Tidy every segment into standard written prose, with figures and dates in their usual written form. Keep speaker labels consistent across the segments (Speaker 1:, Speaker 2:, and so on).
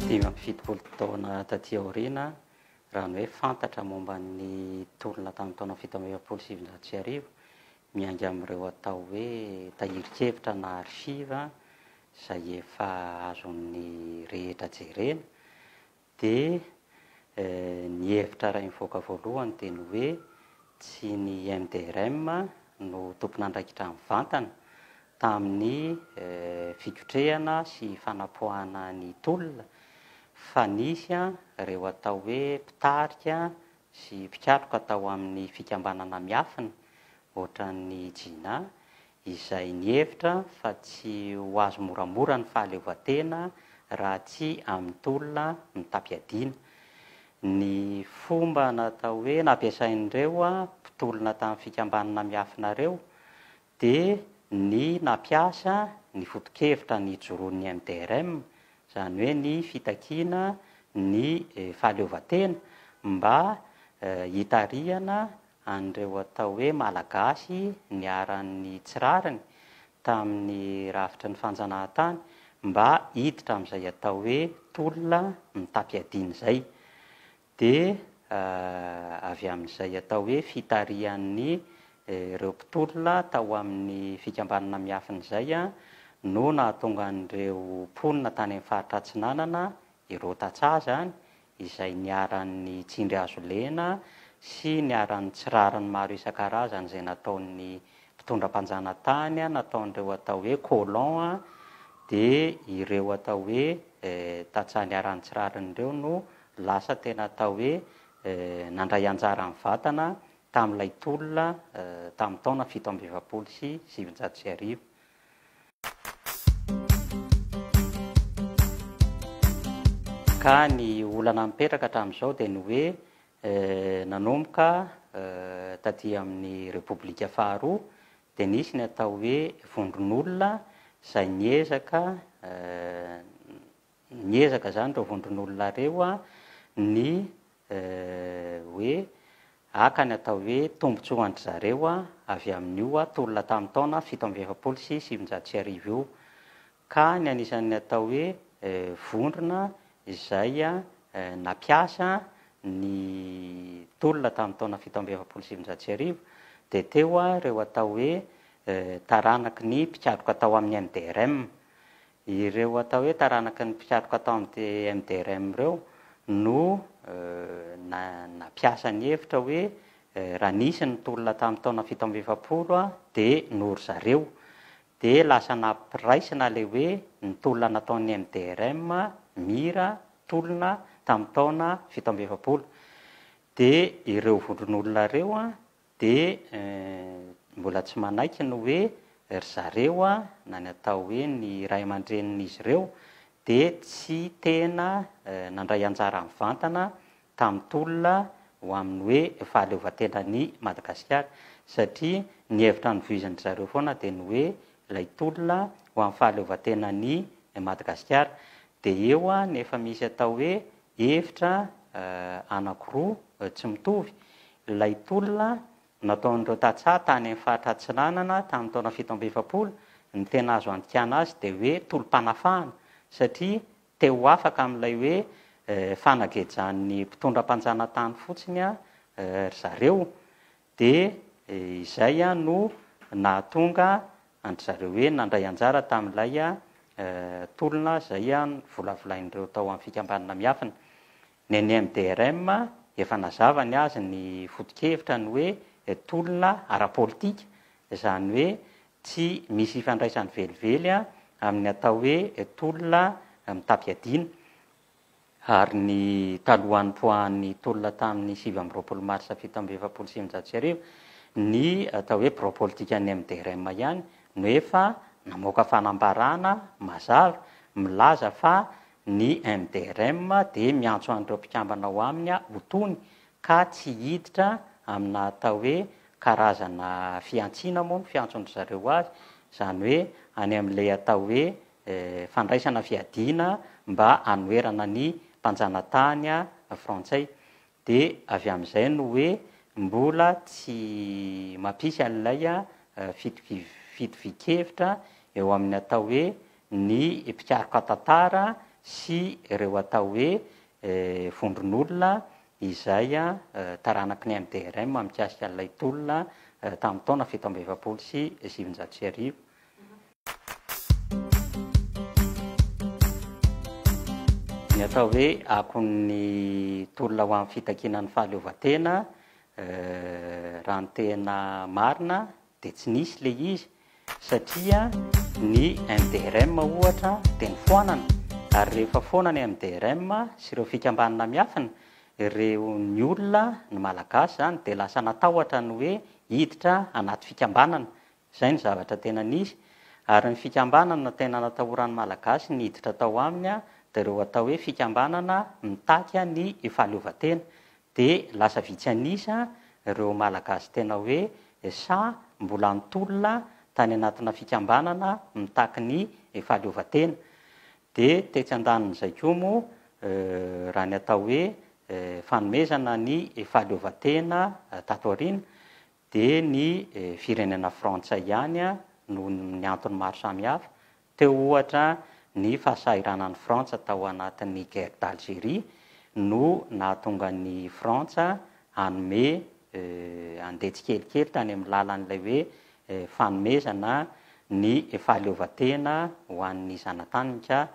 Speaker 1: 75 taona taty aoriana, raha ny hoe fantatra momba ny tolona tamin'ny taona 1947, miainga amin'ireo atao hoe tahirin-kevitra na archive izay efa azon'ny rehetra jerena, dia ny hevitra iray nivoaka voalohany dia ny hoe tsy ny MDRM no tompon'andraikitra mivantana tamin'ny fikotrehana sy fanapoahana ny tolona fa nisy ireo atao hoe mpitarika sy mpikatroka tao amin'ny fikambanana miafina ohatran'ny Jina izay nihevitra fa tsy ho azo moramora ny fahaleovantena raha tsy amin'ny tolona mitam-piadiana. Ny fomba natao hoe nampiasain'ireo mpitolona tamin'ny fikambanana miafina ireo dia ny nampiasa ny foto-kevitra nijoroan'ny MDRM, izany hoe ny fitakiana ny fahaleovantena mba hitarihana an'ireo atao hoe Malagasy niharan'ny tsy rariny tamin'ny rafitry ny fanjanahantany mba hiditra amin'izay atao hoe tolona mitam-piadiana izay. Dia avy amin'izay atao hoe fitarihan'ny ireo mpitolona tao amin'ny fikambanana miafina izay no nahatonga an'ireo mponina tany amin'ny faritra Atsinanana, ireo tantsaha izany, izay niharan'ny tsindry hazo lena sy niharan'ny tsy rariny maro isan-karazany izay nataon'ny mpitondra mpanjanatany, nataon'ireo atao hoe colon, dia ireo atao hoe tantsaha niharan'ny tsy rariny ireo no lasa tena atao hoe nandray anjara mivantana tamin'ilay tolona tamin'ny taona 1947. Ka ny olana mipetraka hatramin'izao dia ny hoe nanomboka taty amin'ny Repoblika faharoa dia nisy ny atao hoe vondron'olona izay niezaka Niezaka izany ireo vondron'olona ireo ny hoe haka ny atao hoe tombontsoan-dry zareo avy amin'io tolona tamin'ny taona 1947 io. Ka ny anisan'ny atao hoe vondrona izay nampiasa ny tolona tamin'ny taona 1947 dia teo ireo atao hoe taranaky ny mpikatroka tao amin'ny MDRM. Ireo atao hoe taranaky ny mpikatroka tao amin'ny MDRM ireo no nampiasa ny hevitra hoe raha nisy ny tolona tamin'ny taona 47 dia noho ry zareo. Dia lasa nampiraisina ilay hoe ny tolona nataon'ny MDRM, Mira, tolona tamin'ny taona 47. Dia ireo vondron'olona ireo Dia mbola tsy manaiky ny hoe ry zareo na ny atao hoe ny ray aman-drenin'izy ireo dia tsy tena nandray anjara mivantana tamin'ny tolona ho amin'ny hoe fahaleovantenan'i Madagasikara satria ny hevitra novoizin-dry zareo foana dia ny hoe ilay tolona ho amin'ny fahaleovantenan'i Madagasikara. Dia eo ny efa misy atao hoe hevitra anankiroa tsy mitovy, Ilay tolona nataon'ireo tantsaha tany amin'ny faritra Atsinanana tamin'ny taona 47, ny tena azo andikana azy dia hoe tolom-panafahana satria te ho afaka amin'ilay hoe fanagejan'ny mpitondra mpanjanatany fotsiny ry zareo dia izay no nahatonga an-dry zareo hoe nandray anjara tamin'ilay tolona izay novolavolain'ireo tao amin'ny fikambanana miafina. Ny an'ny MDRM, efa nazava ny azy ny foto-kevitra ny hoe tolona ara-politika, izany hoe tsy misy ifandraisany velively amin'ny atao hoe tolona mitam-piadiana. Ary ny talohan'ny nipoahan'ny tolona tamin'ny 29 marsa 1947, ny atao hoe birao politikan'ny MDRM ihany no efa namoaka fanambarana mazava milaza fa Ny MDRM dia miantso an'ireo mpikambana ao aminy ho tony ka tsy hiditra amina atao hoe karazana fihantsiana moa no fiantson-dry zareo azy, izany hoe any amin'ilay atao hoe fandraisana fiadiana mba hanoherana ny mpanjanatany frantsay. Dia avy amin'izay no hoe mbola tsy mampisy an'ilay fitovian-kevitra eo amin'ny atao hoe ny mpikaroka tantara sy ireo atao hoe vondron'olona izay taranaky ny MDRM mikasika an'ilay tolona tamin'ny taona 1947. Ny atao hoe akon'ny tolona ho amin'ny fitakiana ny fahaleovantena, raha ny tena marina dia tsy nisy ilay izy satria ny MDRM ohatra dia nofoanana ary rehefa foana ny MDRM sy ireo fikambanana miafina, ireo ny olona, ny Malagasy izany dia lasa natahotra ny hoe hiditra anaty fikambanana. Izay no zavatra tena nisy ary ny fikambanana tena natahoran'ny Malagasy ny hiditra tao aminy dia ireo atao hoe fikambanana mitaky ny fahaleovantena. Dia lasa vitsy an'isa ireo Malagasy tena hoe sahy mbola nitolona tany anatina fikambanana mitaky ny fahaleovantena. Dia tetsy andanin'izay koa moa raha ny atao hoe fanomezana ny fahaleovantena tato aoriana dia ny firenena frantsay ihany noho ny antony maro samihafa, teo ohatra ny fahasahiranan'i Frantsa tao anatin'ny guerre d'Algérie no nahatonga an'i Frantsa hanome handeha tsikelikely tany amin'ny lalan'ilay hoe fanomezana ny fahaleovantena ho an'ny zanataniny ka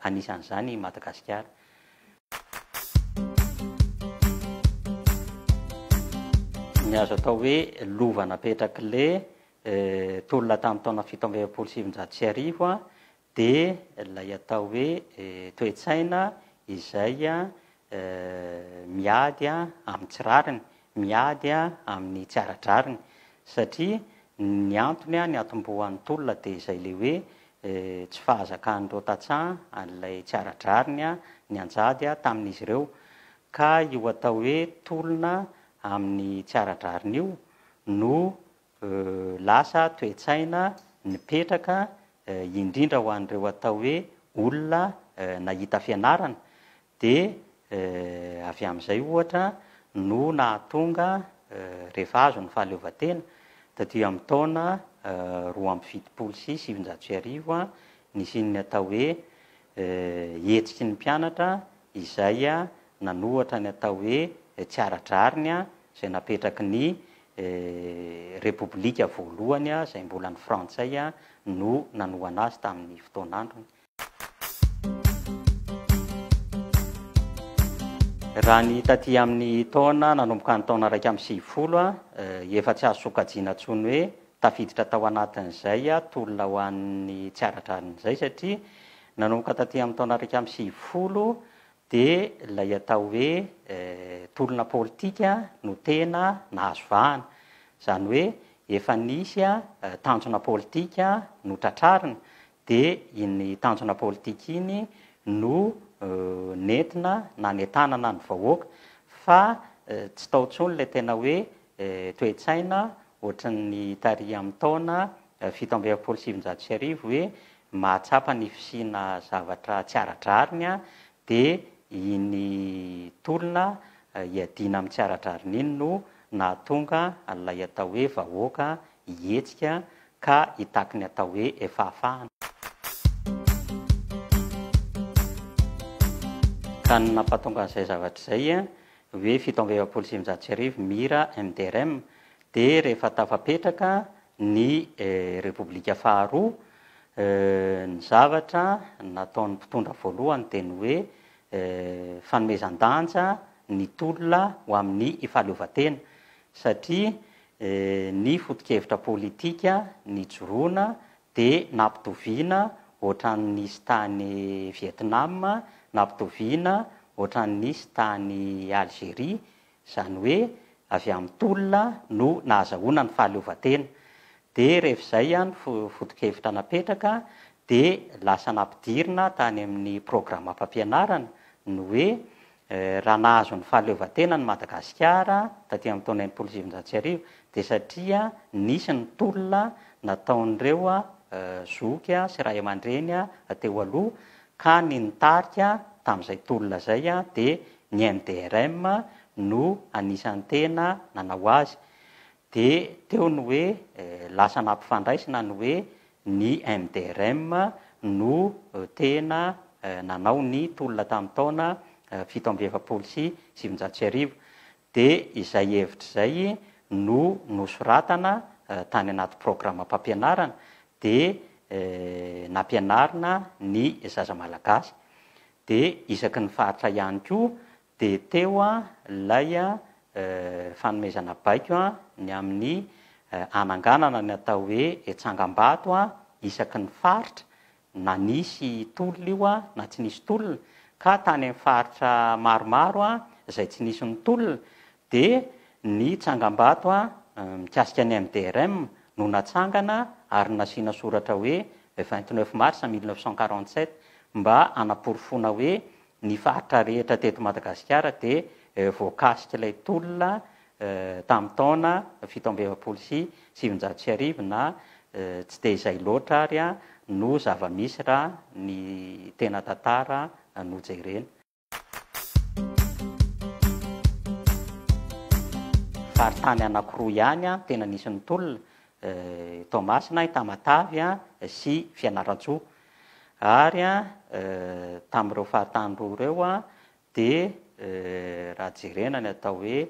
Speaker 1: anisan'izany i Madagasikara. Ny azo atao hoe lova napetrak'ilay tolona tamin'ny taona 1947 dia ilay atao hoe toe-tsaina izay miady amin'ny tsy rariny, miady amin'ny tsy ara-drariny satria ny antony niatombohan'ny tolona dia izay ilay hoe tsy fahazakan'ireo tantsaha an'ilay tsy ara-drariny nianjady tamin'izy ireo ka io atao hoe tolona amin'ny tsy ara-drariny io no lasa toe-tsaina nipetraka indrindra ho an'ireo atao hoe olona nahita fianarana dia avy amin'izay ohatra no nahatonga rehefa azo ny fahaleovantena taty amin'ny taona 1972 nisian'ny atao hoe hetsiky ny mpianatra izay nanohatra ny atao hoe tsy ara-drariny izay napetraky ny Repoblika voalohany izay mbola ny Frantsay no nanohana azy tamin'ny fotoan'androny. Raha ny taty amin'ny taona nanomboka ny taona 91, efa tsy azo sokajiana intsony hoe tafiditra tao anatin'izay tolona ho an'ny tsy ara-drariny izay satria nanomboka taty amin'ny taona 91 dia ilay atao hoe tolona politika no tena nahazo vahana. Izany hoe efa nisy tanjona politika notratrarina dia iny tanjona politika iny no nentina nanentanana ny vahoaka fa tsy tao intsony ilay tena hoe toe-tsaina ohatran'ny tary amin'ny taona 1947 hoe mahatsapa ny fisiana zavatra tsy ara-drariny dia iny tolona hiadiana amin'ny tsy ara-drariny iny no nahatonga an'ilay atao hoe vahoaka hihetsika ka hitaky ny atao hoe fahafahana. Ka ny nampatonga an'izay zavatra izay hoe 1947 Mira MDRM dia rehefa tafapetraka ny Repoblika faharoa, ny zavatra nataon'ny mpitondra voalohany dia ny hoe fanomezan-danja ny tolona ho amin'ny fahaleovantena satria Ny foto-kevitra politika nijoroana dia nampitoviana ohatran'ny nisy tany Vietnam, nampitoviana ohatran'ny nisy tany Algerie, izany hoe avy amin'ny tolona no nahazahoana ny fahaleovantena. Dia rehefa izay ny foto-kevitra napetraka dia lasa nampidirina tany amin'ny programam-pampianarana ny hoe Raha nahazo ny fahaleovantenany Madagasikara taty amin'ny taona 1960 dia satria nisy ny tolona nataon'ireo zoky sy ray aman-dreny teo aloha ka ny nitarika tamin'izay tolona izay dia ny MDRM no anisan'ny tena nanao azy. Dia teo ny hoe lasa nampifandraisina ny hoe ny MDRM no tena nanao ny tolona tamin'ny taona 1947. Dia izay hevitra izay no nosoratana tany anaty programam-pampianarana dia nampianarina ny zaza malagasy. Dia isaky ny faritra ihany koa dia teo ilay fanomezana baiko ny amin'ny hananganana ny atao hoe tsangambato isaky ny faritra na nisy tolona io na tsy nisy tolona, ka tany amin'ny faritra maromaro izay tsy nisy ny tolona dia ny tsangambato mikasika ny MDRM no natsangana ary nasiana soratra hoe 29 mars 1947 mba hanaporofoana hoe ny faritra rehetra teto Madagasikara dia voakasik'ilay tolona tamin'ny taona 1947 na tsy dia izay loatra ary no zava-misy raha ny tena tantara no jerena. Faritany anankiroa ihany tena nisy ny tolona, Toamasina, Tamatave sy Fianarantsoa. Ary tamin'ireo faritany roa ireo Dia raha jerena ny atao hoe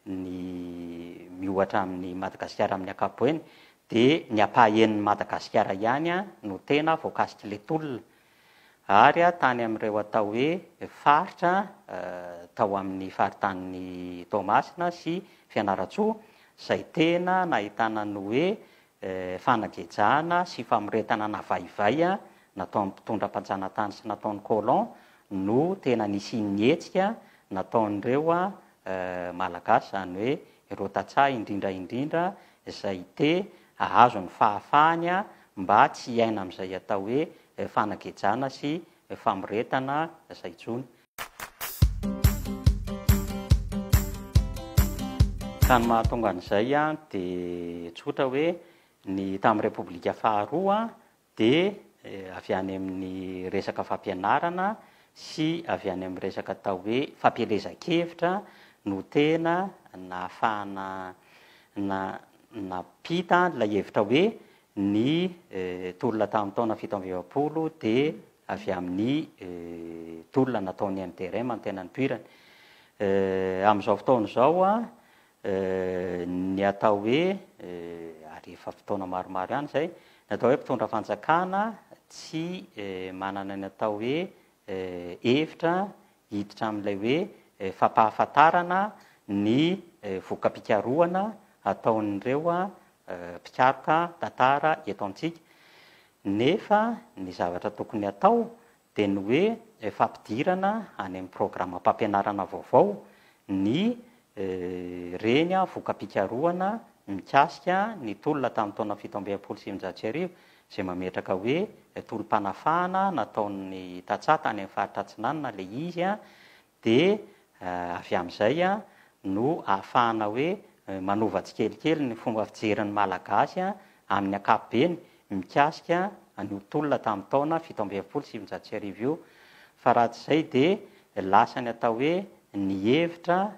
Speaker 1: ny miohatra amin'i Madagasikara amin'ny ankapoeny dia ny ampahaenin'i Madagasikara ihany no tena voakasik'ilay tolona. Ary tany amin'ireo atao hoe faritra tao amin'ny faritanin'i Toamasina sy Fianarantsoa izay tena nahitana ny hoe fanagejana sy famoretana navaivay nataon'ny mpitondra mpanjanatany sy nataon'ny colon no tena nisian'ny hetsika nataon'ireo Malagasy, izany hoe ireo tantsaha indrindra indrindra izay te hahazo ny fahafahany mba tsy hiaina amin'izay atao hoe fanagejana sy famoretana izay intsony. Ka ny mahatonga an'izay dia tsotra hoe ny tamin'ny Repoblika faharoa dia avy any amin'ny resaka fampianarana sy avy any amin'ny resaka atao hoe fampielezan-kevitra no tena nahafahana nampita ilay hevitra hoe ny tolona tamin'ny taona 47 dia avy amin'ny tolona nataon'ny MDRM no tena nipoirany. Amin'izao fotoana izao, ny atao hoe, ary efa fotoana maromaro ihany izay, ny atao hoe mpitondra fanjakana tsy manana ny atao hoe hevitra hiditra amin'ilay hoe fampahafantarana ny voka-pikarohana ataon'ireo mpikaroka tantara eto amintsika. Nefa ny zavatra tokony hatao dia ny hoe fampidirana any amin'ny programam-pampianarana vaovao ny reny voka-pikarohana mikasika ny tolona tamin'ny taona 1967 izay mametraka hoe tolom-panafahana nataon'ny tantsaha tany amin'ny faritra Atsinanana ilay izy Dia avy amin'izay no ahafahana hoe manova tsikelikely ny fomba fijerin'ny Malagasy amin'ny ankapobeny mikasika an'io tolona tamin'ny taona 1947 io. Fa raha tsy izay dia lasa ny atao hoe ny hevitra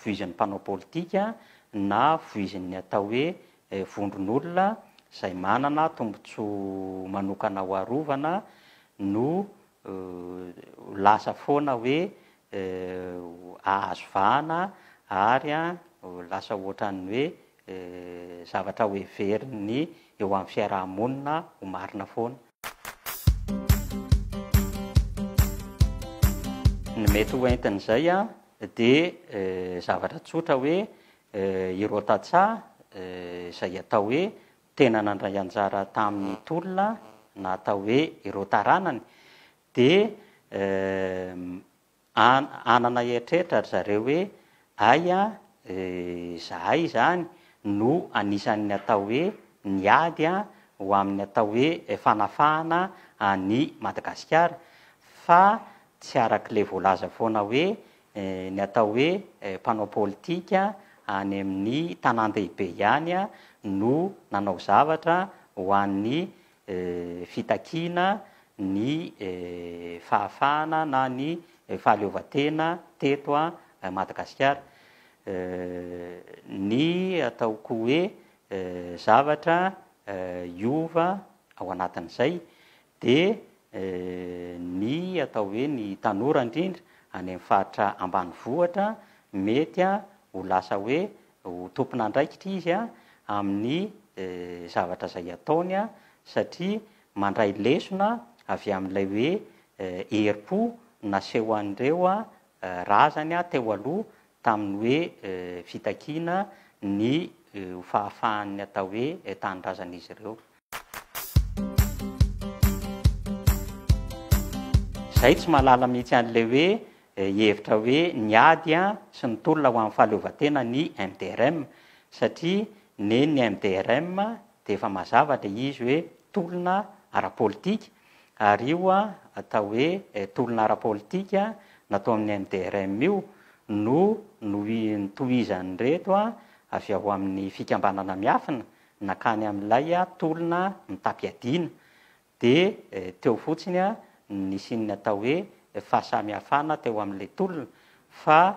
Speaker 1: voizin'ny mpanao politika na voizin'ny atao hoe vondron'olona izay manana tombontsoa manokana ho arovana no ho lasa foana hoe hahazo vahana ary ho lasa ohatran'ny hoe zavatra ho heverin'ny eo amin'ny fiaraha-monina ho marina foana. Ny mety ho entin'izay dia zavatra tsotra hoe ireo tantsaha izay atao hoe tena nandray anjara tamin'ny tolona na atao hoe ireo taranany dia hanana eritreritra ry zareo hoe aia izahay izany no anisan'ny atao hoe niady ho amin'ny atao hoe fanafahana an'i Madagasikara fa tsy arak'ilay voalaza foana hoe Ny atao hoe mpanao politika any amin'ny tanàn-dehibe ihany no nanao zavatra ho an'ny fitakiana ny fahafahana na ny fahaleovantena teto Madagasikara. Ny ataoko hoe zavatra hiova ao anatin'izay dia. ny atao hoe ny tanora indrindra any amin'ny faritra ambanivohitra mety ho lasa hoe ho tompon'andraikitra izy amin'ny zavatra izay ataony satria mandray lesona avy amin'ilay hoe herim-po naseho an'ireo razany teo aloha tamin'ny hoe fitakiana ny ho fahafahan'ny atao hoe tanindrazan'izy ireo. Izay tsy mahalala mihitsy an'ilay hoe hevitra hoe niady sy nitolona ho amin'ny fahaleovantena ny MDRM satria nen'ny MDRM dia efa mazava ilay izy hoe tolona ara-politika ary io atao hoe tolona ara-politika natao amin'ny MDRM io no notohizan'ireto avy ao amin'ny fikambanana miafina Nankany amin'ilay tolona mitam-piadiana, dia teo fotsiny no nisian'ny atao hoe fahasamihafana teo amin'ilay tolona, fa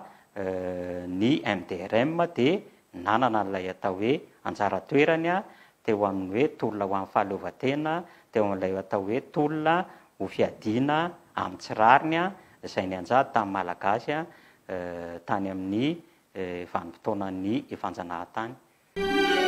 Speaker 1: ny MDRM dia nanana an'ilay atao hoe anjara toerany teo amin'ny hoe tolona ho an'ny fahaleovantena, teo amin'ilay atao hoe tolona ho fiadiana amin'ny tsy rariny izay nianjady tamin'ny Malagasy tany amin'ny vanim-potoanan'ny fanjanahantany.